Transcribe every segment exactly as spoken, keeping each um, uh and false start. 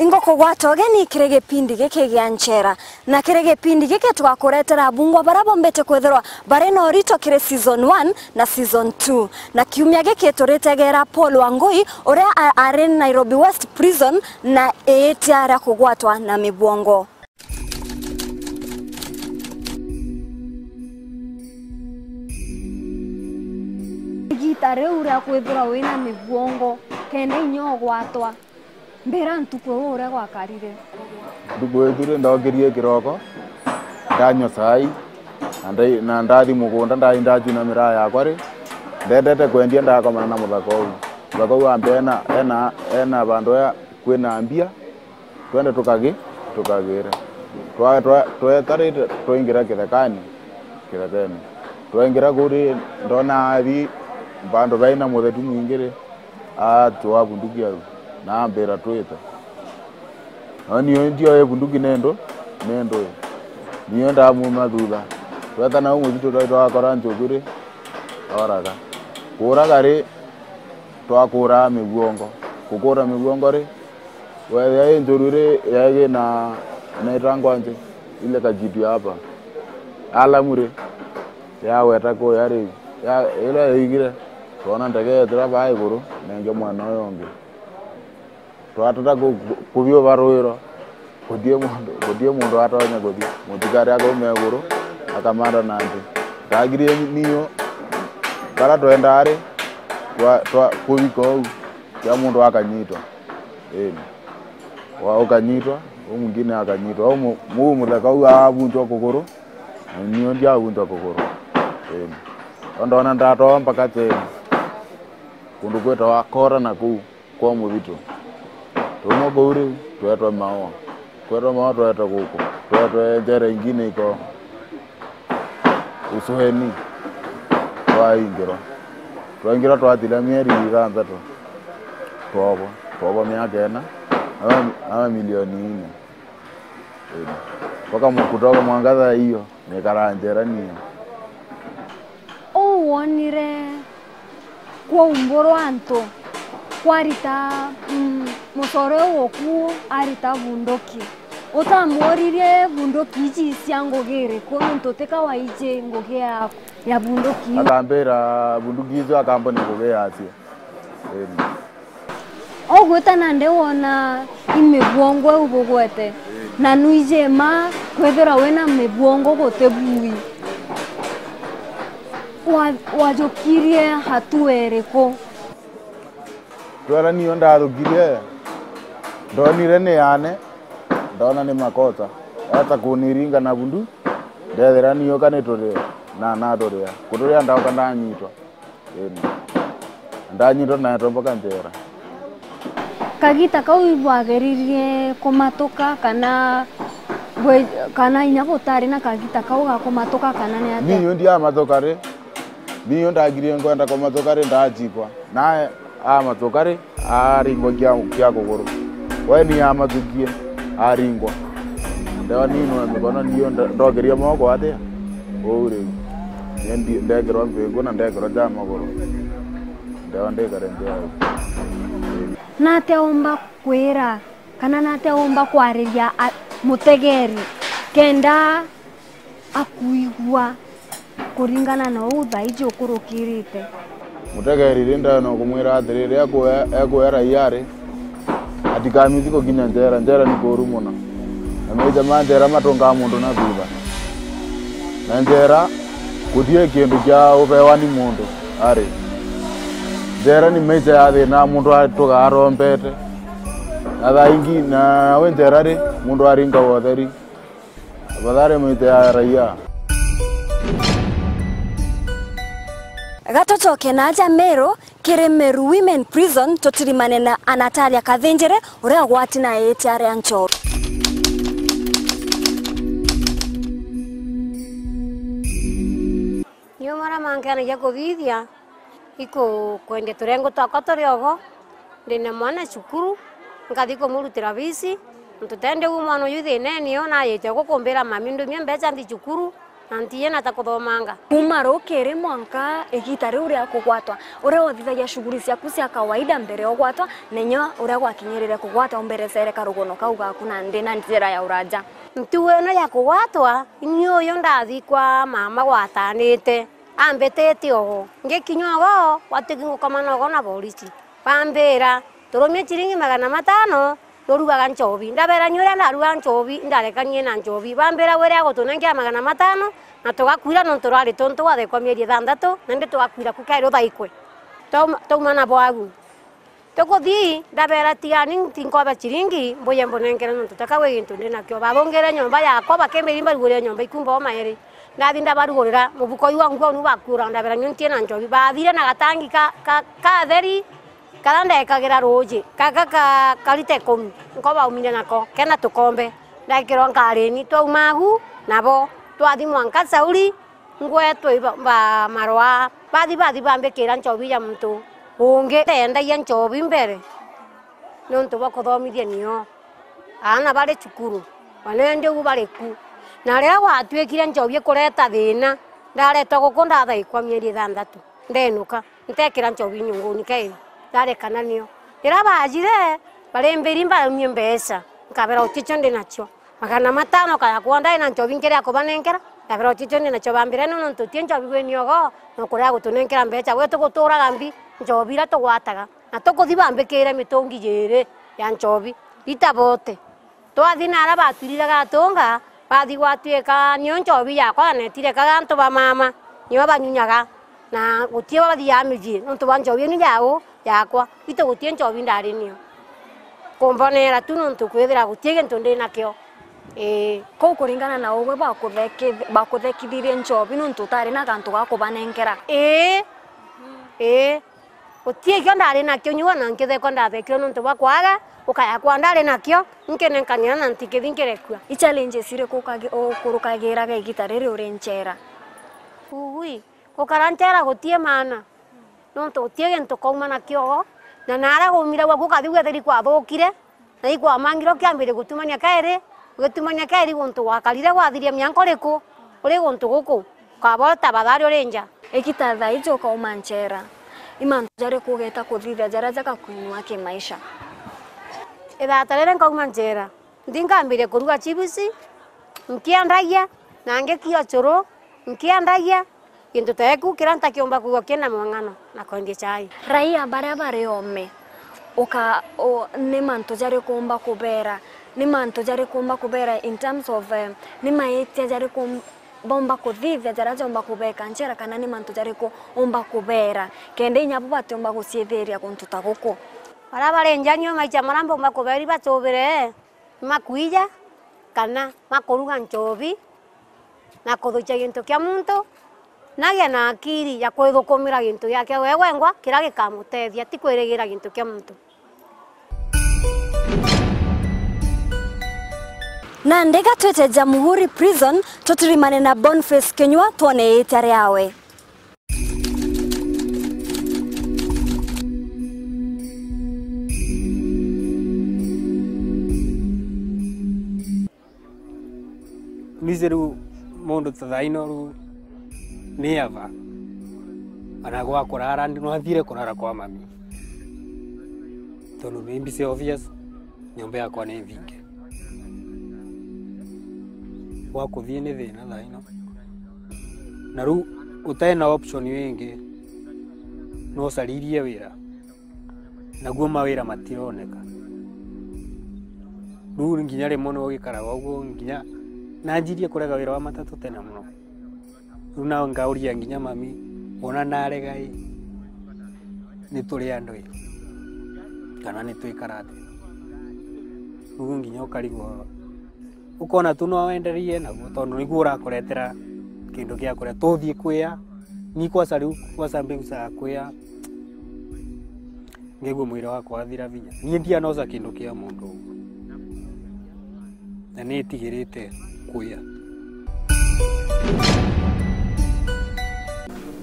Ingukugwata ugeni kiri gipindi giki gia Nchera, na kiri gipindi giki tugakuretera abungwa baria bombite kwithirwa bari na urito kiri season one na season two. Na kiumia giki turitegera Paul Wangui, uria a-, ari Nairobi West Prison na iitia ria kugwatwa na mibwongo. Igita riu ria kwithirwa wina mibwongo, kenda inya ugwatwa, mbira ntuku iu uria gwakarire. Ntuku iu tu ri, ndookirie kiroko, ndanyua cai, na ndai-, na ndathi mugunda, ndai ndachuna miraa yakwa ri, ndendete kwendia, ndakomana na muthaka uu. Muthaka uu ambe ena, ena, ena vandu ea kwina mbia, twende tukagi-, tukagire. Twa-, twa-, twetarite twaingira kithekani, kithekene. Twaingira kuu ri, ndona athi vandu baina muthetu mwingi ri, atwaa bunduki au, na ambira, "Twite." No nio ndioe bunduki nindu, nindu nio ndamuma thutha. Tweta nau mucitu, twa-, twakora nchuku ri, oraga. Kuuraga ri, twakuuraa mibwongo. Kukuura mibwongo ri, wethia i njuru ri, yaigi na, na itangwa nje, ile kakitu ya hapa. Alamu ri, yagweta kuya ri, ya-, ila yaigire, twona ndege yetira baa iguru, nenge mwena uyu ungi. Twatata ku-, ku-, kubiuba rwiro, gutii muntu, gutii muntu atonya kuthi. Muthikari akauma iguru, akamanda na nthi. Ndagirie niu, baria twendaa ri, twa, twa, kubika uu, kia muntu akanyitwa. Ii. Wa-, ukanyitwa, uu mwingine akanyitwa. Uu mu-, uu muthaka uu abuntwa kuguru, na niu ndiabuntwa kuguru. Ii. Ndo ndona ndatwaa mpaka Cheni, kundu kwitawa Kora na kuu kwa muthitu. Tuuma kuu riu, twetwa Maua. Kwetwa Maua, twetwa guku. Twetwa njera ingine iko Usueni. Twaingirwa. Twaingirwa twatira mieri ithanthatu. Twobwa. Twobwa miaka ina. Ama, ama milioni ine. Ii. Mpaka mu-, kutoka mwanka thaa iyo, nikaraa njera niyo. Uu wonire kwaumburwa antu kwarita, mm, mucore uu uku arita bunduki. Utamworirie bunduki iji cia ngugi iriku, nontu tika waiji ngugi ya, ya bunduki iu. Akambira bunduki icio akamboni ngugi yacio. Ii. Ugwita nandi wona i mibwongo iu bugwete, na nwiji mma kwithirwa wina mibwongo guti bui. Wa-, wajukirie hatua iriku? Twera niyo ndathukirie, ndonire ni yaane, ndona ni makosa. Eta kuniringa na bundu, ndethira niyo ka ni turia, na naturia. Kuturia ndauka ndanyitwa. Ii. Ndanyitwa na tomboka njera. Kagita kau ibwageririe kumatuka kana bwe-, kana inya butari na kagita kau ga kumatuka kana ni atia? Niyo ndiamatuka ri. Niyo ndagirie nkwenda kumatuka ri, ndachikwa. Nae amatuka ri, aringwa kia, kia kuguru. We ni amatukie, aringwa. Ndewa ninwe mikono, niyo nda-, ndokeria moko atia? Uu riu. Ni ndi-, ndekirwa mpingu na ndekirwa ja maguru. Ndewa ndikare nthi au. Natia umba kwira, kana natia umba kwariria a-, mutegeri, kenda akuigua kuringana na uu thaiji ukurukirite. Mutegeri ri, ndenda kumwira atiriri, ekwe-, ekwera raia ri, atikamithi gukinya njera, njera ni kuuru mono. Na maita ma njera matungaa muntu na thutha. Na njera gutii kindu kia ubewa ni muntu ari. Njera ni maita ya thina, muntu atugaa arombete. Na thaa ingi, nawe njera ri, muntu aringagwa utheri. Tafadhali mwite ya raia. Gatucoke na aja Meru kiri Meru Women Prison, tutirimane na Anatalia Kathinjiri, uria ugwati na itia ria nchoro. Niu maria mankenagia kuthithia, iku-, kwendia turengo twakwa turi ogo, ndina mwana cukuru, nkathi kumurutira bisi, nontu tende uu mwana uyu thinene, niyo nayite gukumbira mami, ndumie mbeca nthi cukuru, Na ntiina ta kuthomanga. Kuuma rukiri mwanka igiita riu ria kugwatwa, uria uthithagia shughuli ciaku cia kawaida mbere ya ugwatwa, na inya uria gwakinyirire kugwatwa, umberecere karugono kau gaku nandi na njira ya uraja. Ntugo ino ya kugwatwa, ni uyu ndathikwa mama gwatanite, ambitite ogo. Ngikinya ogo, gwatuiki ngukomana ogo na borisi. Bambira, "Turumie ciringi magana matano, nurugaga nchobi." Ndabera, "Ni uria ndarugaga nchobi, ndarekanie na nchobi." Bambira, "Wire agutunenkera magana matano, na tugakwira nontu rwari tuntu wathekwa mieri ithanthatu, nandi tugakwira ku kairi uthaikwe." Twauma, twauma na bwagu. Tukuthii, ndabera, "Tigani, ntinkobe ciringi, mbuye mbunenkere nontu taka wi gintu ndi nakio." Babungire nyomba yakwa, bakimbira imbarugurire nyomba ikumba o mairi. Ndathi ndabarugurira, mubuko uu wa nguo nu bakuura, ndabera, "Ni ntiina nchobi." Bathire na gatangi ka, ka, katheri, karia ndekagira ruuji, gaka ka, ka lita ikumi, nko baumire nako, kena tukombe, ndekirwa nkarini, twauma agu nabo, twathi mwanka Sauri, ngwetwe iba, ba, marwa, bathi, bathi bambikira nchobi ya muntu ungi, ndendagia nchobi mbere, niuntu bwa kuthomithia nio aana bari cukuru, ona indi ugu bari ku. Na riria gwatuikire nchobi ikureta thina, ndaretwa guku ndathaikwa mieri ithanthatu, ndenuka. Ntekira nchobi nyunguni kairi, ndarekana nio. Riria baajire, barimbiri mbaumie mbeca, nkabera, "Uticio ndi nacio." Magana matano kaya kwa ndari na nchobi nkiria kubanenkera, ndabera, "Uticio ndi nacio." Bambira, "Ino nontu uti nchobi wi niogo, na ukuria gutunenkera mbeca, gwe tuguturaga mbi nchobi iria tugwataga, na tukuthi bambikire mitungi jiiri ya nchobi, ita bote." Twathi na aria batwiriraga atunga, bathi gwatuika nio nchobi yakwa, na netire kaga antu ba mama, nio banyunyaga, na guti bathiaga micii nontu bwa nchobi inu yao yakwa. Itu guti nchobi ndari nio. Kumbonera tu nontu kwithira guti gintu ndi nakio. Ii. Kou kuringana na ugwe bakutheki-, bakuthekithirie nchobi nontu utari na gantu ga kubanenkera? Ii. Ii. Guti ikio ndari nakio, nyua na nkithekwa ndathekirwe nontu bwa kwaga, ukaya kwa ndari nakio, nkinenkania na ntikithi nkirekua. I challenges iriku ukagi-, ukurukagiraga igita riri uri nchera? Ugui, gukara nchera guti maana, nontu guti gintu ukauma nakio, na naria gumire gwaku ukathi gwetheri kwathukire, na ikwamangire ukiambiria gutumania kairi, ugitumania kairi guntu gwakarire gwathiria mianka uriku, uri guntu guku, ukaba uri tabathari uri nja. Igita thaa iji ukauma nchera, i mantu jariku ugeeta kuthithia jaria jagakwinua kimaisha? Ithata riria nkauma nchera, nthi nkambiria kuruga chibusi, nkiendagia, na ngikia ucuru, nkiendagia, gintu ta giku kiria ntakiumba kwigua kina mwang'ano na kwendia chai. Raia baria bari oome, uka-, u-, ni mantu jariku umba kubeera? Ni mantu jariku umba kubeera in terms of, eh, ni maitia jariku um-, baumba kuthithia jaria jaumba kubeeka nchera, kana ni mantu jariku umba kubeera kenda inya bo batiumba guciithiria guntu ta guku? Baria bari nja nio maitia maria mbaumba kubeera ibatuubire. Makwija kana makuruga nchobi na kuthukia gintu kia muntu, nagia na akiri ya kwithukumira gintu giake we wengwa kiria gikamutethia, ti kwirigira gintu kia muntu. Nandi gatwite Jamhuri Prison, tutirimane na Boniface Kinyua twone iitia riawe. Nise riu mundu ta thaino riu ni ava, ana gwa kurara ndi nwathire kurara kwa mami, tondu ni mbise obvious. Nyomba yakwa ni nthinge. Gwa kuthii ni thina thaino. Na riu utai na option ingi, no ucaririe wira. Naguo mawira matironeka. Riu nginya rimwe no gikaraga uguo, nginya nanjirie kurega wira wa matatu tene muno. Riu nao ngauria nginya mami, wona narega ii, ni turi andu ii, kana ni twikara atia? Riu nginya ukarigwo, ukona tu no wenderie naguo, tondu niguo urakuretera kindu gia kuria. Tuthii kwia, ni kwaca riu, kwaca mbegu cia kwia, ngigua mwiri wakwa wathira vinya. Ni ndianoca kindu kia mundu uguo. Na nitigirite kuya.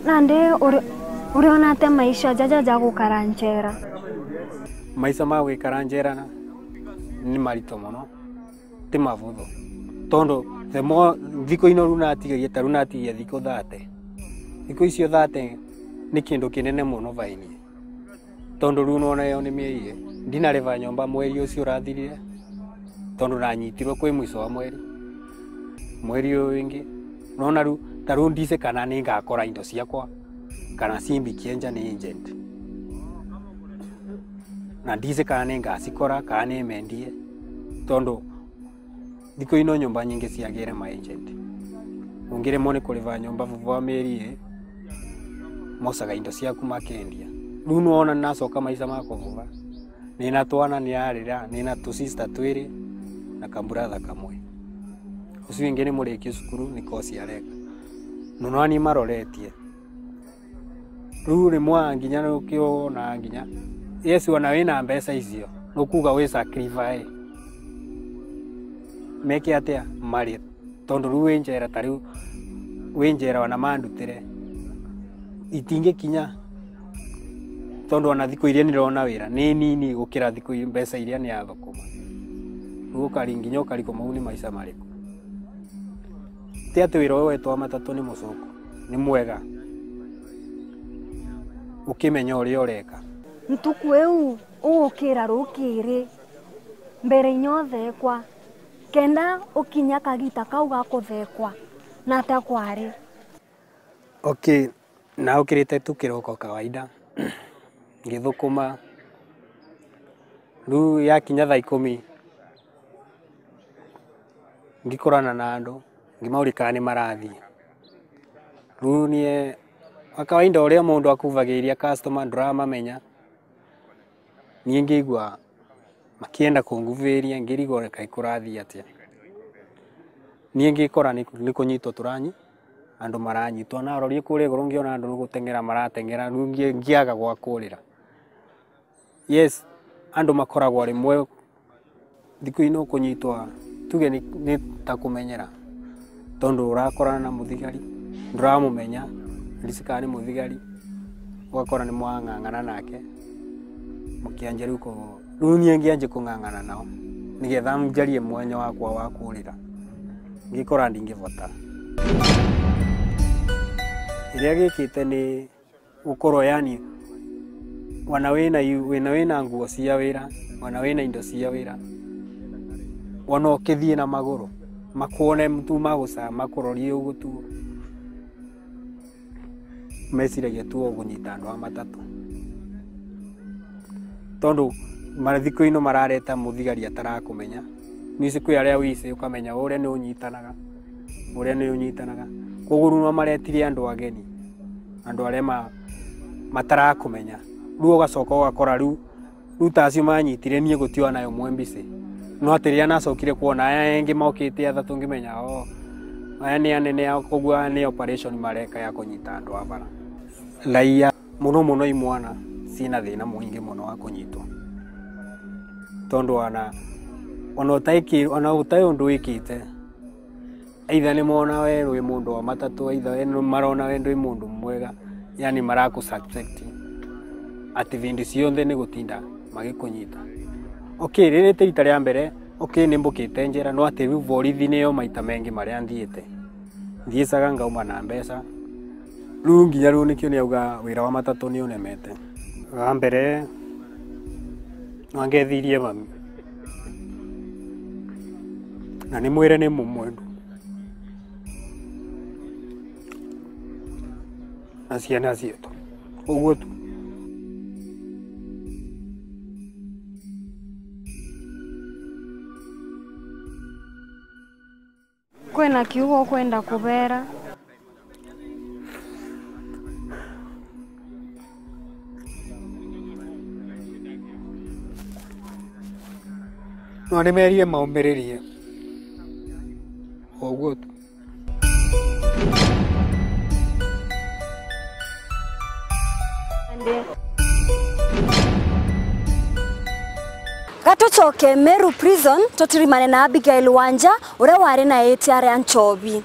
Nandi uri-, uriona atia maisha jaja ja gukara njera? Maisha ma gwikara njera na, ni marito muno, ti mavuthu. Tondu the more, thiku ino riu natigagia, ta riu natigia thiku thate. Thiku icio thate ni kindu kinene mono vaini. Tondu riu nona yo ni mieri, ndinariva nyomba mweri ucio urathirire, tondu nanyitirwe kwi mwico wa mweri. Mweri uyu wingi, nona riu, ta riu ndisi kana ningakora indo ciakwa, kana cimbikie nja ni agent. Na ndisi kana ningacikora, kana nimendie, tondu thiku ino nyomba nyingi ciagire ma agent. Ungirimwo ni kuriva nyomba vuva wa mieri ii, mosaga indo ciaku makendia. Riu nwona nacoka maisha ma kuvuva. Nina twana niarira, nina tu sister twiri na ka brother kamwe. Ucio wingi ni murikie cukuru, ni course areka. Nonani maroretie. Riu rimwe nginya nukiona nginya, yes, ona wina mbeca icio, nukuga wi sacrifice. Meke atia? Mari. Tondu riu wi njera, ta riu wi njera, ona mandutire, itingikinya. Tondu ona thiku iria ndirona wira ni nini gukira thiku i-, mbeca iria niathukuma. Riu ukari nginya ukarikuma, uu ni maisha mariku? Ti ati wira uyu wetu wa matatu ni mucuku, ni mwega, ukimenya uria ureka. Ntuku iu ugukira rukiri, mbere inya uthekwa, kenda ukinya kagita kau ga kuthekwa, na atia kwari? Okay, na ukirite tu kiroko kawaida, ngithukuma. Riu yakinya thaa ikumi, ngikorana na andu, ngimauria kana ni marathii. Riu nie, kwa kawaida, uria mundu akuvagiria customer, nduramamenya. Nie ngigua makienda kunguviria, ngirigwa kaai kurathii atia. Nie ngikora ni, ni kunyitwa turanyi, andu maranyitwa. Narorie kuria iguru, ngiona andu ni guteng'era marateng'era, riu ngi-, ngiaga gwa kurira. Yes, andu makoragwa rimwe, thiku ino kunyitwa, tuge ni, ni ta kumenyera, tondu urakorana na muthigari, nduramumenya, ndisi kana ni muthigari, ugakora ni mwang'ang'ana nake, mukianjia riu ku-, riu nie ngianjia kung'ang'ana nao, nigetha njarie mwanya wakwa wa kurira, ngikora ndingivota. Iria gikite ni gukorwo, yani, wana wina yu-, wina, wina nguo cia wira, wana wina indo cia wira, wana ukithii na maguru, makwone tu magucaa, makurorie uguo tu, meciragia tu ugunyita andu a matatu. Tondu mathiku ino marareta muthigari atarakumenya. Nisi kwi aria wise ukamenya uria ni unyitanaga, uria ni unyitanaga. Koguo riu no maretire andu ageni, andu aria ma-, matarakumenya. Riu ugacoka ugakora riu, riu ta acio manyitire nie guti ona umwe mbisi. No ati riria nacokire kwona aya engi mokite athatu ngimenya, oh, aya ni anene ao, koguo aya ni operation mareka ya kunyita andu a bara. Raia. Mono mono i mwana cina thina mwingi mono wa kunyitwa. Tondu wana, ona utaiki-, ona utai undu wikite, either ni mona we wi mundu wa matatu, either we ni marona we ndwi mundu mwega, yani maraku suspect ati vindi cionthe ni gutinda magikunyita. Okay, riri ti rita ria mbere, okay, ni mbukite njera, no ati riu borithi niyo maita mengi maria nthiite. Nthiicaga ngauma na mbeca. Riu nginya riu nikio niauga wira wa matatu ni unemete. Wa mbere, no ngethirie mami. Na ni mwire ni mumwendu. Na ciana cietu. Uguo tu. Kwina kiugo ukwenda kubeera? No nimeerie maumiririe. O uguo tu. Ga tucoke Meru Prison, tutirimane na Abigail Wanja, uria wari na itia ria nchobi.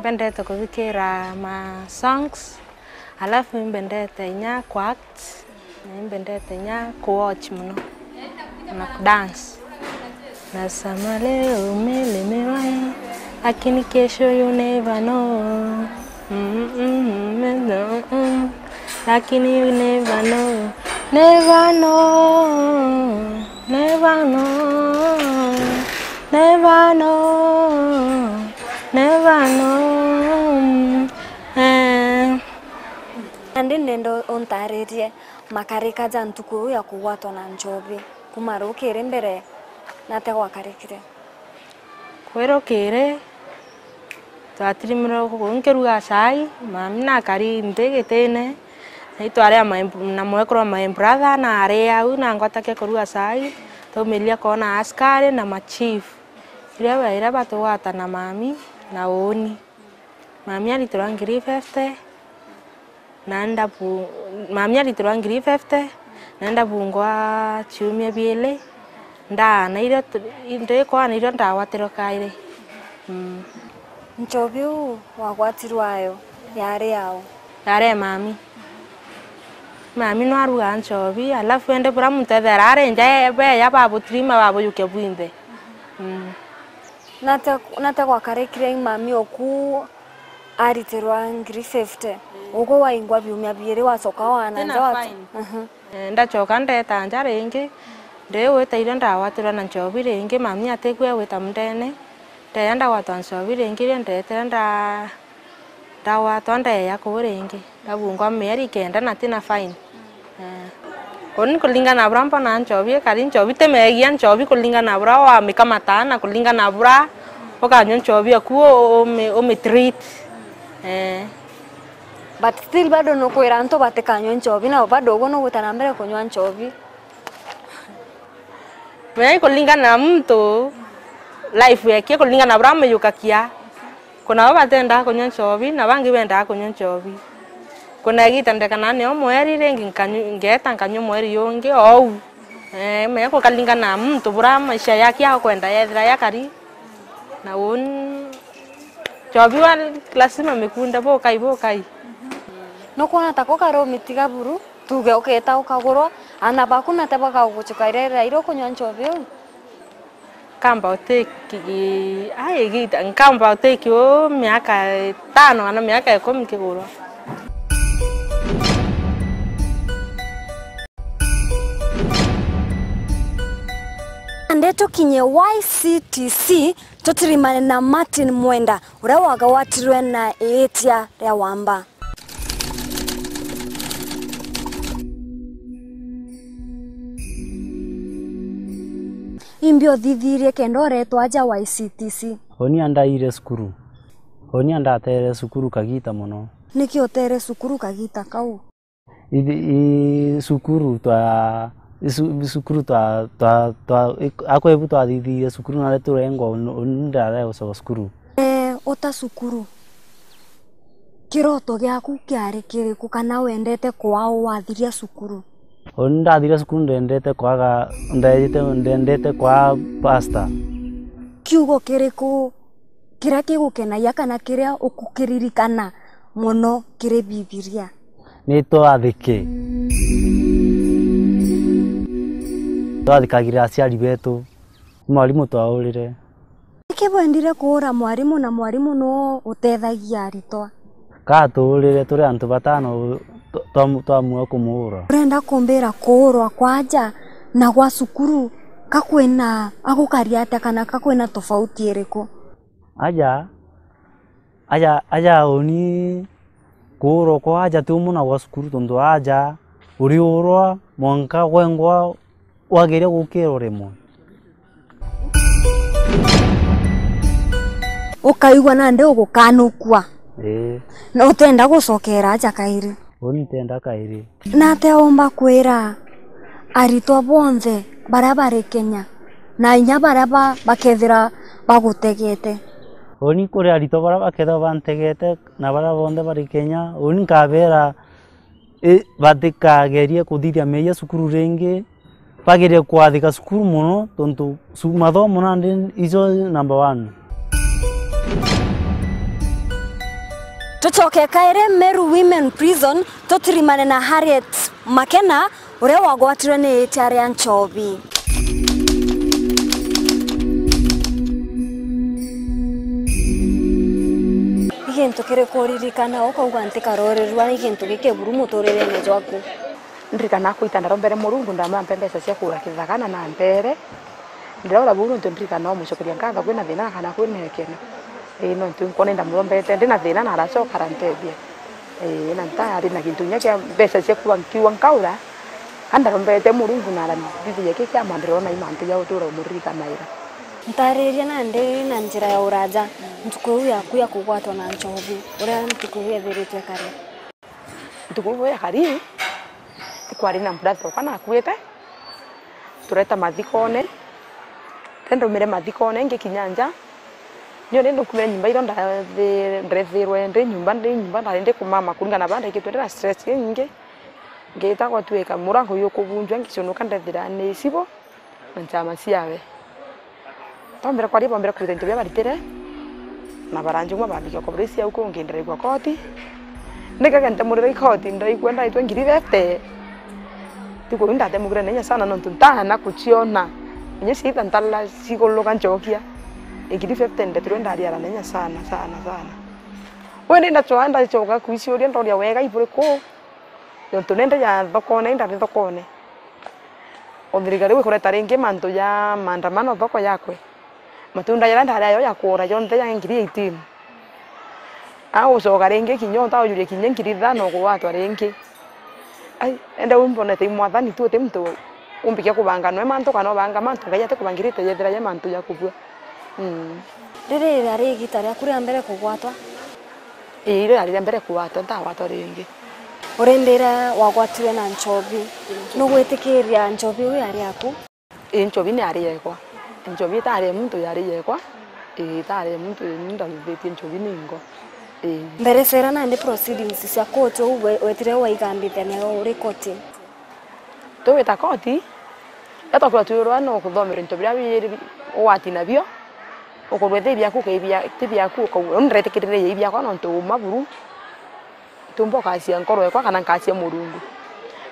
Mbendete kuthikira ma songs, alafu imbendete inya ku act, na imbendete inya ku watch mono, na ku dance. Nasema leo umelemewa, eh, lakini kesho you never know. Mm, mm, mm, mm, mm. Lakini you never know. Never know. Never know. Never know. Never know. Eh. Nandi ndenda untaririe makarika ja ntuku iu ya kugwatwa na nchobi, kuma rukiri mbere, nate gwakarikire? Kwirukiri, twatirimirwe guku nkiruga chai, mami nakari nthi gitine, na itwari a my, na mwekuru wa my brother na ari au, na ngwatakia kuruga chai, twaumiria kwona askari na ma chief. Iria baira batugwata na mami na uuni. Mami aritirwa ngiri fifty, na ndabu-, mami aritirwa ngiri fifty, na ndabungwa ciumia biiri, ndaa, na irio tu-, ndikwa na irio ndagwatirwe kairi. Mm. Nchobi uu wagwatirwe ayo yari yau? Yari mami. Mami nwarugaa nchobi, alafu ende bura muntu ethera ari nja, beya babutirima babujukia bwinthe. Mm. Nate, nate gwakarikire mami oku aritirwa ngiri fifty. Ugwe waingwa biumia biiri wacoka wana nja watu. Aha. Eh, ndacoka ndeta nja ringi, ndi gwita irio ndagwatirwa na nchobi ringi, mami atigwe gwita mundene. Ndeya ndagwatwa nchobi ringi, irio ndetire nda-, ndagwatwa ndeya kuu ringi, ndabungwa mieri kenda na tina fine. Eh. Uni kulingana na bura mbona nchobi ikari, nchobi ti megia, nchobi kulingana na bura wamikamataa na kulingana na bura ukanyua nchobi aku u-, umi-, umitreat. Eh. But still bado nukwira antu batikanyue nchobi, na bado ugwe nugwita na mbere kunyua nchobi. Menya ikulingana na muntu, life yake ikulingana na bura amiyukakia. Kuna bo batendaa kunyua nchobi, na bangi bendaa kunyua nchobi. Kuna igita ndekana nio mweri, ringi nkanyu-, ngeeta nkanyua mweri jungi ou. Eh, menya kukalingana na muntu bura maisha yake akwenda yethira yakari. Na uni nchobi wa lazima mikunde bukai, bukai. Nukwona tako kari umitiga buru? Tuge ukeeta ukagurwa, aana baku nate bakagucuka riria ira ukunyua nchobi iu? Nkamba utiki, ai, igita, nkamba utiki uu miaka itano kana miaka ikumi nkigurwa. Ndeto kinye Y C T C, tutirimane na Martin Mwenda, uria wagwatirwe na iitia ria wamba. Imbi uthithirie kenda uretwa aja Y C T C? Uni andaire cukuru. Uni andatere cukuru kagita mono. Niki utere cukuru kagita kau? Ithi-, i-, cukuru twa-, i-, cu-, cukuru twa-, twa-, twa-, i-, akwa ibu twathithirie cukuru, nare turengwa, uni, uni ndarega gucoka cukuru. Ee, uta cukuru, kiroto giaku kiari kiriku, kana wendete kwaa wathiria cukuru? Uni ndathiria cukuru, ndendete kwaga, ndendete, ndendete kwaa pastor. Kiugo kiriku kiria gigukenagia kana kiria ukukiririkana mono kiri Bibilia? Ni twathike. Twathikagira aciari betu. Mwarimu twaurire. Niki bwendire kuura mwarimu, na mwarimu nuu utethagia aritwa? Ka tuurire turi antu batano, twa-, twa-, twamua kumuura. Urenda kumbira kuurwa kwa aja na gwa cukuru ka kwina, a gukari atia kana ka kwina tofauti iriku? Aja, aja, aja uni kuurwa kwa aja ti umwe na gwa cukuru, tontu aja uriurwa mwanka gwengwa wageria gukirwa rimwe. Ukaigua nandi ugukanukua. Ii. Na utenda gucokera aja kairi. Uni ntenda kairi. Nate umba kwira aritwa bonthe baria bari Kenya, na inya baria ba-, bakethira bagutegete? Uni kuri aritwa baria bakethira bantegete na baria bonthe bari Kenya, uni nkabera, i, batikagerie kuthithia meeyia cukuru ringi, bagerie kwathika cukuru mono, tontu cu-, mathomo nandi ijo number one. Tucoke kairi Meru Women Prison, tutirimane na Harriet Makena, uria wagwatirwe ni itia ria nchobi. Ni gintu kiriku uririkana ukauga, "Ntikarorirua ni gintu gikiburu muturirene jwaku"? Ndirikana kwita ndarombere Murungu, ndamwampe mbeca cia kugura kithaka na na mbere. Ndiraura buu nontu ndirikana umucokeria nkatho kwina thina kana kwina ikeno. Ii, nontu nkwona indamurombete ndina thina na aracoka arantethia. Ii, na ntari na gintu kinya kia mbeca cia kuuga nkiuga nkaura, ka ndarombete Murungu na aranthithiria ki kiama ndirona i mantu ja gutura umuririkanaira. Ntariria nandi na njira ya uraja ntuku iu yaku ya kugwatwa na nchobi, uria ntuku iu yethiritwe kari. Ntuku iu ya kari, ikwari na brother okwa nakuite, tureta mathikone, te ndaumire mathikone ngikinya nja, nio ni ndakumire nyumba iria ndathi-, ndethirwe ndi nyumba, ndi nyumba ndari ndikumama kuringana na baria ndaikitwe ndina stress inyingi, ngita gwatuika murango jukubunjwa ngicunuka ndethira ni icibo na nchama ciawe. Twambire kwaria, bambire kuruta into biria baritire, na baranjung'wa bambikia kwa polisi au kungi, ndiraigua koti. Ndikaga ntemurira i koti, ndiraigua ndaitwe ngiri fifty. Ntuku iu ndatemukire na inya sana, nontu ntaana kuciona. Inya ciita ntalala ciguluka ncokia. Ngiri fifty ndetirwe ndariara na inya sana, sana, sana. Wende ndacwaa, ndacoka kwiciuria, ndoria, wega iburi ku? Nontu nende ja thokone, indari thokone. O thirikari wikureta ringi mantu ja maandamano thoko yakwe. Matunda jaria ndari ayo ja kuura jonthe ja ngiri eighteen. Agucoka ringi kinya utaujuria kinya ngiri ithano kugwatwa ringi. Ai, ende u mbonete i mwathani tu, uti muntu umbikia kubanga noe mantu kana ubanga mantu, Ngai atikubangirite jethira ja mantu ja kubua. Mm. Riri riari igita riaku ria mbere kugwatwa? Ii, irio yari ria mbere kugwatwa, ntagwatwa ringi. Urindire wagwatirwe na nchobi, nugwitikiria nchobi iu yari yaku? Ii, nchobi ni yari yekwa. Nchobi itari ya muntu, yari yekwa. Ii, itari ya muntu, ni ndathithitie nchobi ningo. Ii. Mbere cera nandi proceedings cia court uu we-, wetire waigambite nayo uri koti? Tugwita koti, riria twakwirwa twirwa no kuthomerwa into biria biiri bi-, ugwati nabio, ukorwa ti biaku, ukaibia-, ti biaku, ukauga, "Uu ndiretikirire i biakwa nontu uma buru, ntiumba ukacia nkoro ekwa kana nkacia Murungu."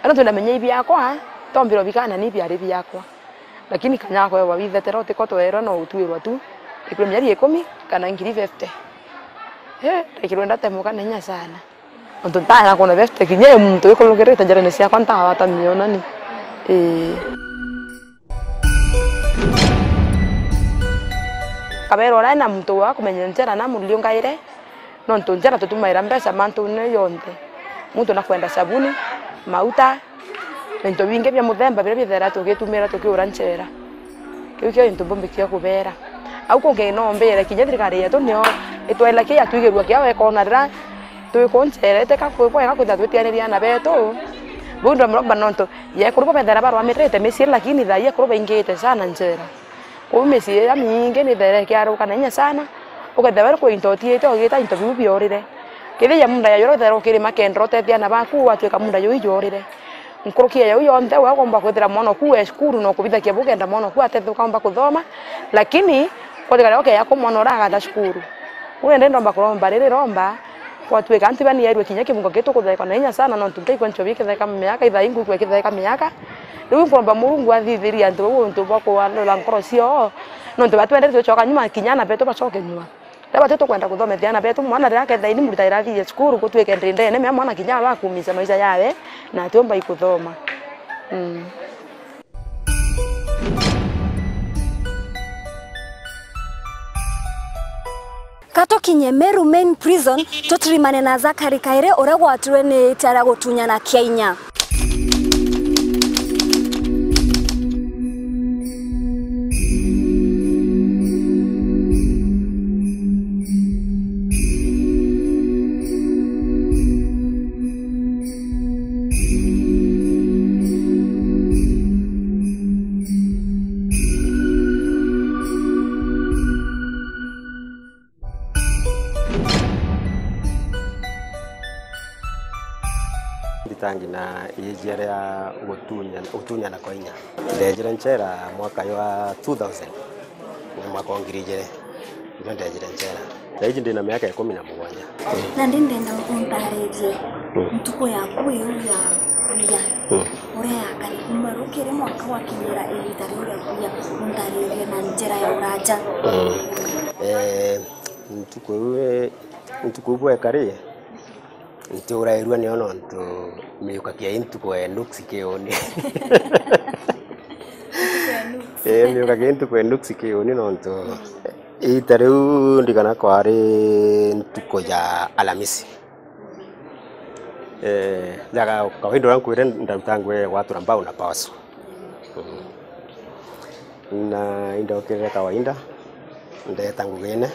Ino twinamenya i biakwa, tombirwa bikana ni biari biakwa. Lakini kanya gakwa withetera utiko twerwa no utwirwa tu, ikirwe mieri ikumi kana ngiri fifty. He, ndaikirwe ndatemuka na inya sana. Nontu ntaana kwona best kinya i muntu wikurukirite njarene ciakwa ntawata mionani. Ii. Kabera uria na muntu wa kumenya njera na muriungaire, nontu njera tutumaira mbeca mantune jonthe. Muntu nakwenda sabuni, mauta, na into bingi bia muthemba biria bithera tugitumira tukiura njera. Kiu kio into mbumbikia kubera. Au kungi no mbere kinya thirikari yetu nio itwela kia twigirua kia wekona rira twi ku njera, iteka kwi bwega kwithira twitianiria aana betu. Buu ndamuromba nontu yekuru bo bethera barwamirite micii, lakini thaa ii ekuru baingite sana njera. Kuu micii iria mingi nithere ikiaruka na inya sana, ukethira we kwi into utiite ugita into biu biorire. Kethira munda ya yoro uthere ukirima kendera utethia aana baku, watwika munda juu iyorire. Nkuruki ya jau yonthe, we ugomba kwithira mwana oku we cukuru na ukubithakia bugenda mwana oku atethe ukaomba kuthoma, lakini kwathika riria ukeya ku mwana uria agatha cukuru. Riu indi ndomba kuromba riri romba, kwatwika antu bani yairwe kinya kimungo kitu kutheka na inya sana, nontu nkaigua nchobi ikitheka miaka, ithai nguigua ikitheka miaka. Riu nkuromba Murungu athithirie antu bau untu bwa kualula nkoro ciao, nontu batwendete tucoka nyuma, kinya aana betu bacoke nyuma. Riria batu tukwenda kuthomethia aana betu, mwana riria akethira ni murita irathithie cukuru, gutwike ndindene mea mwana kinya aba akumica maisha yawe, na atiumba ikuthoma. Mm. Ka tukinye Meru Main Prison, tutirimane na Zakari Kairi, uria gwatirwe ni itia ria gutunyana kia inya. Nditangi na iijia ria gutunya-, gutunyana kwa inya. Ndejire nchera mwaka jwa two thousand, na mwaka wa ngiri ijiri. Ndio ndejire njera. Thaiji ndina miaka ikumi na mugwanja. Na ndi ndenda untaririe ntuku yaku iu ya kuya, uria yakari kuma rukiri mwanka gwakinyira igiita riu ria kuya, untaririe na njira ya uraja. Eh, ntuku iu, eh, ntuku iu bwekari, ntiurairua nio nontu miukakia i ntuku ya nuksi kiuni. Eh, miukakia i ntuku ya nuksi kiuni nontu iita riu ndigana kwari ntuku ya Alamisi. Eh, jaga kawaida uria nkwire ndaruta ngugi ya gwatura mbao na power saw. Mm. Na indokirire kawaida, ndeta ngugine,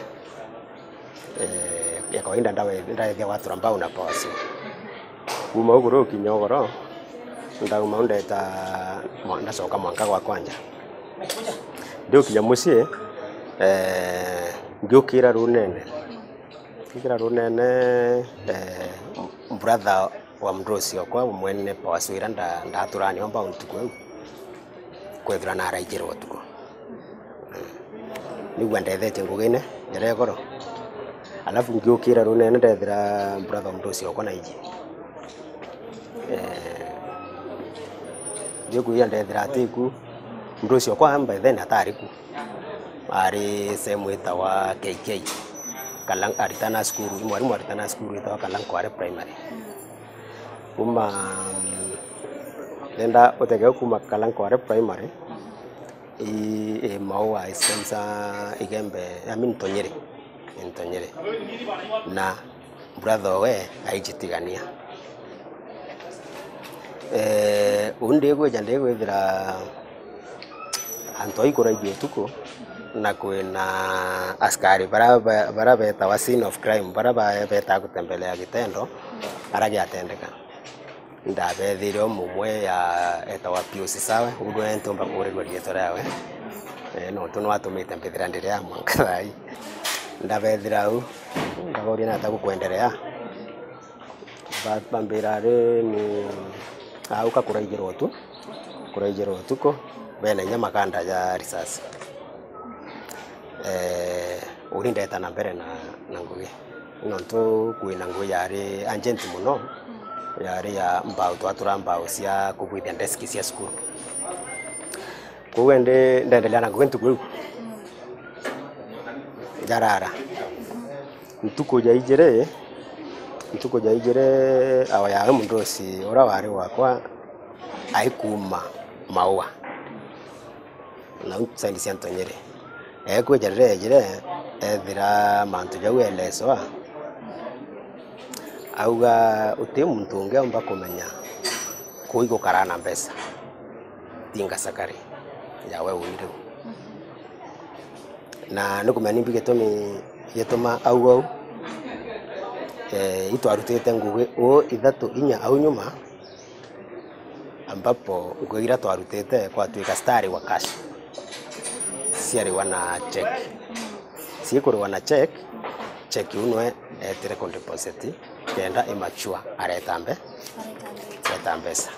eh, ya kawaida ndawe-, ndaethia gwatura mbao na power saw. Kuma uguru ukinya ugoro, ndauma u ndeta mwa-, ndacoka mwanka gwa kwanja. Ndiukinya mucii, eh, ngiukira runene. Ngiukira runene, eh, brother wa mndu ucio okwa mwene power saw ira nda-, ndaturania mbao ntuku iu, kwethira naraijirwa utuku. Nigua ndethetie ngugine njira igoro. Alafu ngiukira runene ndethira brother wa mndu ucio okwa naiji. Eh, ndikwija ndethira atiku, mndu ucio okwa by then atari ku. Ari sehemu itawa K K. Kalang-, aritana cukuru, mwarimu aritana cukuru itawa Kalankware Primary. Kuma, mm, ndenda utege kuma Kalankware Primary, i, i Maua, i Spencer, Igembe, I mean, Ntonyere. I Ntonyere. Na brother owe aijitigania. Eh, uu ndigwija ndigwithira antu aikuraithia utuku, na kwina askari bara, bara betawa scene of crime, bara ba-, betaa gutembelea gitendo ara giatendeka. Ndabethire umwe ya etawa Pius Sawe, uu nwe ntumba kuurirua riitwa riawe, eh, nontu nwatumite mbithira ndiri a mwanka thaa ii. Ndabethira au, ndaboria nata gukwenderea. Ba-, bambira ari ni auka kuraijirwa utu-, kuraijirwa utuku, bena inya makanda ja risasi. Eh, uri ndeta na mbere na, na ngugi. Nontu kwina ngugi yari urgent mono, yari ya mbao, twatura mbao cia kubwithia desk cia cukuru. Kwou indi ndendelea na ngugi ntuku iu. Njarara. Ntuku ja ijiri, ntuku ja ijiri, ao yawe mundusi uria wari wakwa aikuma Maua. Nau side cia Ntonyere. Ekwija riria ejire, ethira mantu jau eleswa, auga, "Uti muntu ungi aumba kumenya kuu igukaraa na mbeca, tinga cakari yawe uni riu." Na nikumenya nimbi gitumi gituma auga uu, eh, itwarutite ngugi uu ithatu inya au nyuma, ambapo ngugi iria twarutite kwatuika citarigwa cash, ciarigwa na check. Cikurigwa na check, check iu nwe etire ku deposit kenda i mature areta mbe-, areta mbeca.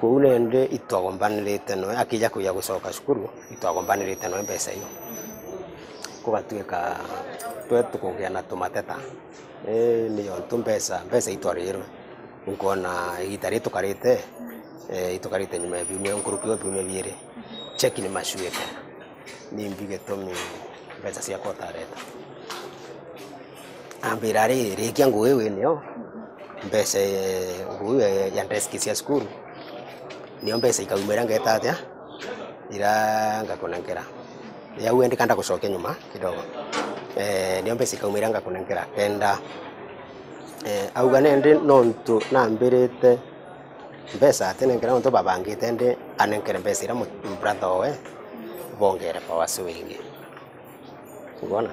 Kwou nende itwagombanirite nwe, akija kuja gucoka cukuru, itwagombanirite nwe mbeca iu. Kugatuika twe tukugia na tumateta. Ii, ni yontu mbeca, mbeca itwarirwe. Nkona igita riri tukarite, eh, itukarite nyuma ya biumia, nkuruki wa biumia biiri, cheki ni macuite. Nimbi gitumi mbeca ciakwa utareta? Ambira, "Ari, rikia ngugi wi nio, mbeca, eh, ngugi ya, ya desk cia cukuru, nio mbeca ikauma iria ngeta atia, iria ngakunenkera." Yau endi kanda gucokia nyuma kidogo. Eh, nio mbeca ikauma iria ngakunenkera kenda. Eh, auga nendi nontu nambirite mbeca atinenkera nontu babangite, endi anenkere mbeca iria mu-, brother owe bongere power saw ingi. Ubona?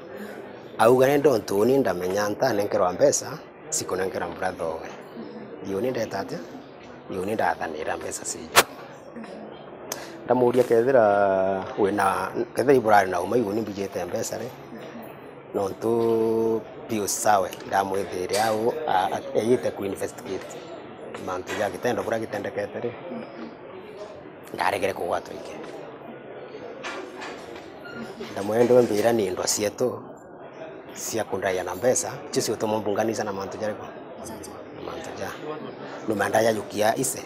Auga nendi nontu uni ndamenya ntanenkerwa mbeca, cikunengera brother owe. Iuni ndeta atia? Iuni ndathanira mbeca cio. Ndamuria kethira wina, kethira iburari na uma iuni mbijite mbeca ri, nontu Pius Sawe ndamwithire au, a-, a-, eyite ku investigate mantu ja gitendo buria gitendekete ri, ndaregere kugwatwa ingi. Ndamwira ndiwe mbira ni ndwa cietu, cia kundaia na mbeca, icio ciutuma mbunganisa na mantu jariku? Na mantu ja. Numenda jajukia ise.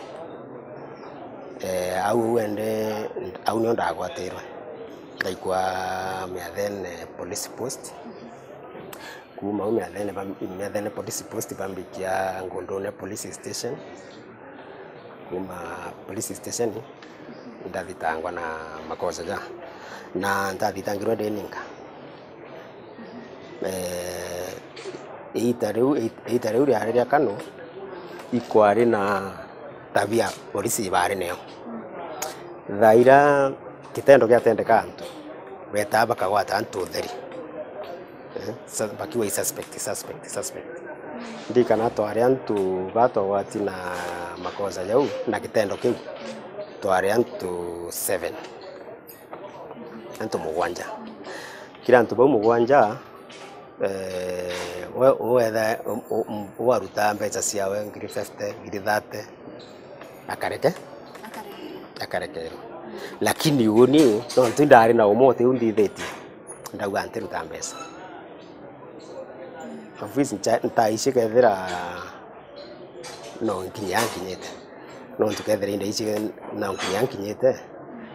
Eh, au, au ende, au nio ndagwatirwe. Ndaikwa Miathene Police Post. Kuuma au Miathene ba-, Miathene Police Post bambikia Ngundune Police Station. Kuuma police station, ndathitangwa na makosa ja. Na ndathitangirwe ndi ninka. Eh, iita riu, iita riu riari ria Kanu, ikwari na tabia polisi ibaari nayo. Thaa iria kitendo giatendeka antu, betaa bakagwata antu utheri. Eh, sa-, bakiuga i suspect, suspect, suspect. Ndirikana twari antu batwagwati na makosa jau na kitendo kiu, twari antu seven. Antu mugwanja. Kiri antu bau mugwanja, eh, we, wetha, u-, u-, u-, waruta mbeca ciawe ngiri fifty, ngiri thirty, akareke? Akarekerwa. Akarekerwa. Lakini uni, nontu indari na umote u nthithitie, ndauga ntiruta mbeca. Of which ncha-, ntaici kethira no nkinya nkinyite. Nontu kethira indaisi no nkinya nkinyite,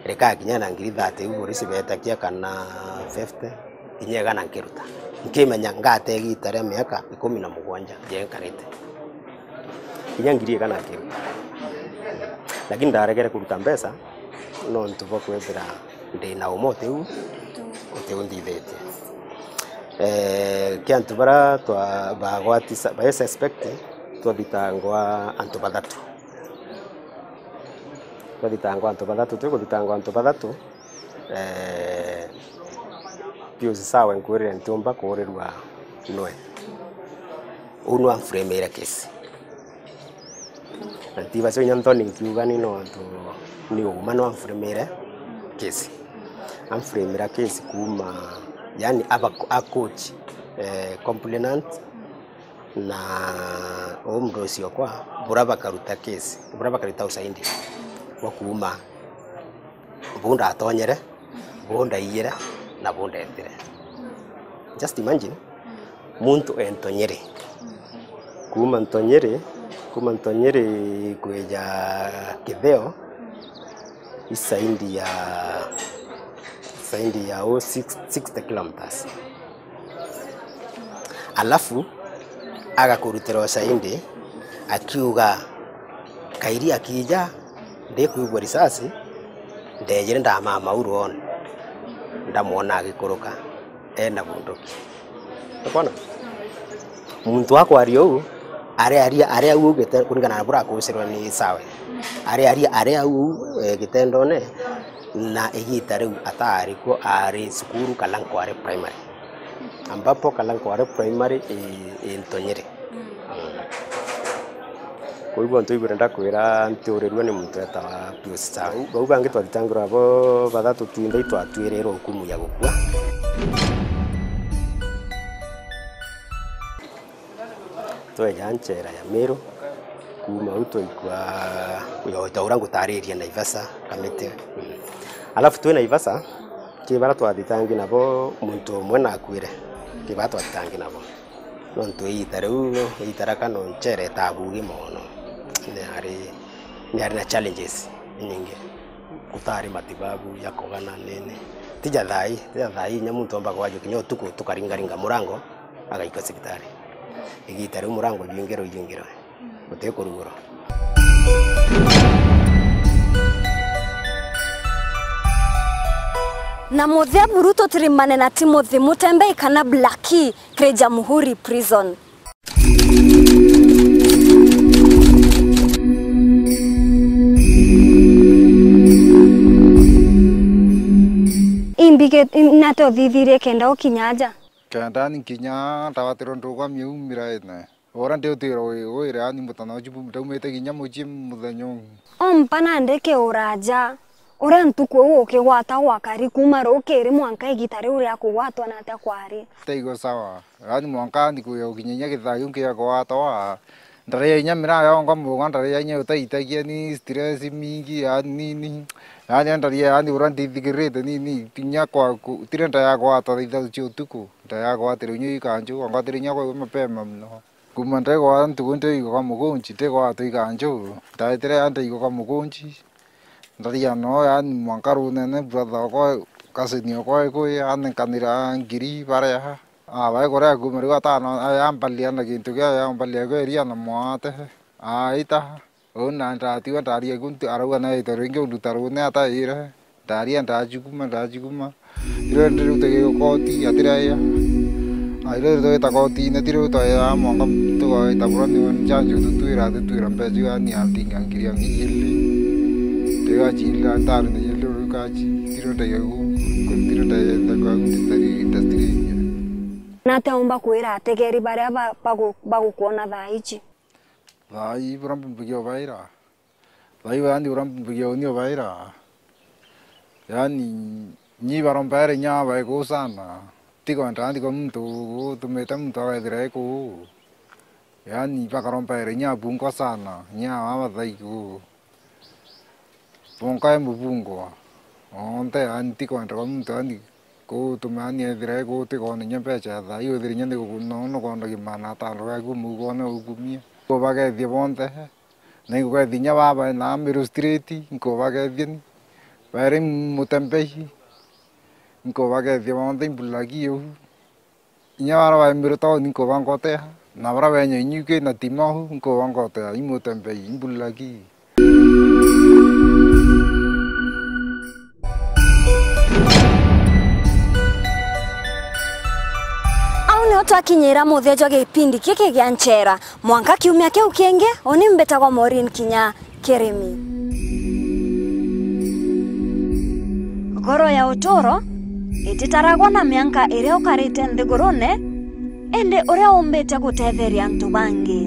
reka kinya na ngiri thirty iu polisi betakia kana fifty, kinya igana nkiruta. Nkimenya ngate igita ria miaka ikumi na mugwanja jenkarite. Kinya ngiri igana nkiruta. Lakini ndaregere kuruta mbeca nontu bwa kwithira ndi na umote u, uti undithitie. Eh, kia antu bara twa-, bagwati sa-, ba suspect, twathitangwa antu bathatu. Twathitangwa antu bathatu, twi kuthitangwa antu bathatu, eh, Pius Sawe nkwirire ntiumba kuurirua nwe. Uu nwe amframire case. Na ntibacio inya nthoni nkiuga ni nontu ni uuma nwe amframire case. Amframira case kuuma, yani aba a coach, eh, complainant, na uu mdosi okwa, bura bakaruta case, bura bakaruta ushahidi bwa kuuma buu ndatonyere, buu ndaiyire, na buu ndetire. Just imagine, muntu e Ntonyeri. Kuuma Ntonyeri, kuuma Ntonyeri kwija Kitheo, i zaidi ya, zaidi ya o six, sixty kilometers. Alafu agakurutira ushahidi akiuga, kairi akija, ndikwigua risasi, ndejire ndamama u rwoone, ndamwona agikuruka ena bunduki. Ukwona? Muntu akwaria uu, arearia, aria au augite kuringana na buria akucirwe ni Sawe. Arearia, aria au, eh, gitendone, na igita riu ataari kuo, aari cukuru Kalankware Primary. Ambapo Kalankware Primary i, i Ntonyeri. Mm. Kwou bonthe ibwire ndakwira ntiurirue ni muntu etawa Pius Sawe. Bau bangi twathitangirwe abo bathatu twinthe itwatuirirwe hukumu ya gukua. Tweja nchera ya Meru, kuuma au twaikua, yo, ta uria ngutaririe Naivasha, Kamiti. Mm. Alafu twi Naivasha, ki bara twathitangi nabo muntu umwe nakuire, ki bara twathitangi nabo. Nontu iita riu, iita ria Kanu nchere itabugi mono. Niari, niari na challenges inyingi. Gutari matibabu ya kugana nini. Tija thaai, tija thaai, inya muntu omba kwajua kinya utuku tukaringaringa murango, agaikwa cibitari. Igiita riu murango jwingirwe, ijwingirwe. Guti kurugurwa. Na muthia buru tutirimane na Timothy Mutembei kana Blackie kiri Jamhuri Prison. Imbige nate uthithirie kenda ukinya aja? Kenda ni kinya ndawatirwe ndugami au miraine. Ura ndiutwira wi-, wira ani mutana uju bu-, ndaumite kinya mucii muthenya uu. Ompa nandi kiuraja, uria ntuku iu ukigwata gwakari kuuma rukiri mwanka igita riu ria kugwatwa natia kwari? Taigua sawa. Yaani mwanka ndi kuya gukinya inya githaa kiu nkiya kugwatwa, ndaria inya miraa yonga muga, ndaria inya utaitagia ni stress mingi, yaani ni, ni, Yaani, andaria, yaani, uria ndithikirite nini, kinya kwa ku-, tire nda ya gwata thaa ithatu cia utuku, nda ya gwatire inya ikanju, angwatire inya kwa mapema muno. Kuma ndegwa ntuku ndeigwa kwa mugunji, ndegwa twiga nju, ndaetire ya ndeigwa kwa mugunji, ndaria no, yaani, mwanka runene brother okwa, cousin okwa ekwi, anenkanira ngiri, baria, abae kuria kuma riu atano, ayambalia na gintu kia, yambalia kweria na mwate, aita, uu na ndatigwa ndaria ku, arauga naite ringi unduta rune ataire, ndaria ndajuguma, ndajuguma. Tiro ndiriu tugigukoti, atiraia. Na tiro twita kotine, tiro twaya mwanka tugawita bura ni njanjo tutwira, tutwira mbeca iu, yani, atinga ngiri ya ngiri ili. Tiga chila ntari ni ili rukachi, tiro ndaiga gu, tiro ndaiga kwa industry, industry ingi. Nate umba kwira ategeri baria ba-, bagu-, bagukwona thaa ici? Thaa ii bura mbumbugia ubaira. Thaa ii, yani, uria mbumbugia uni ubaira. Yani, nyi barombaere inya bae kuu sana. Tikwenda nthi kwa muntu utumite muntu agethira e kuu. Yani, bakarombaere inya abungwa sana, inya abathai kuu. Bonka e mubungwa. Onthe, yani, tikwenda kwa muntu, yani, kuu tume, yani, ethira e kuu tikona inya mbeca ya thaa ii, withire inya ni guku-, no, nukondagia maana atano gaku mugone ukumie. Kuu bagethie bonthe. Na inkugethia inya baba na Miru Street, inkubagethia ni. Bairi Mutembei, inkubagethia bonthe imbulagi iu. Inya bara ba Miru town inkubangotea, na bara benya inyuki na Timau, inkubangotea, i Mutembei, imbulagi. Au nio twakinyira muthia jwa gipindi giki gia Nchera. Mwanka kiumia kiu kingi, uni mbitagwa Maureen Kinya Kirimi. Ngoro ya uturo ititaragwa na mianka iria ukarite nthigurune, indi uria umbite gutetheria antu bangi.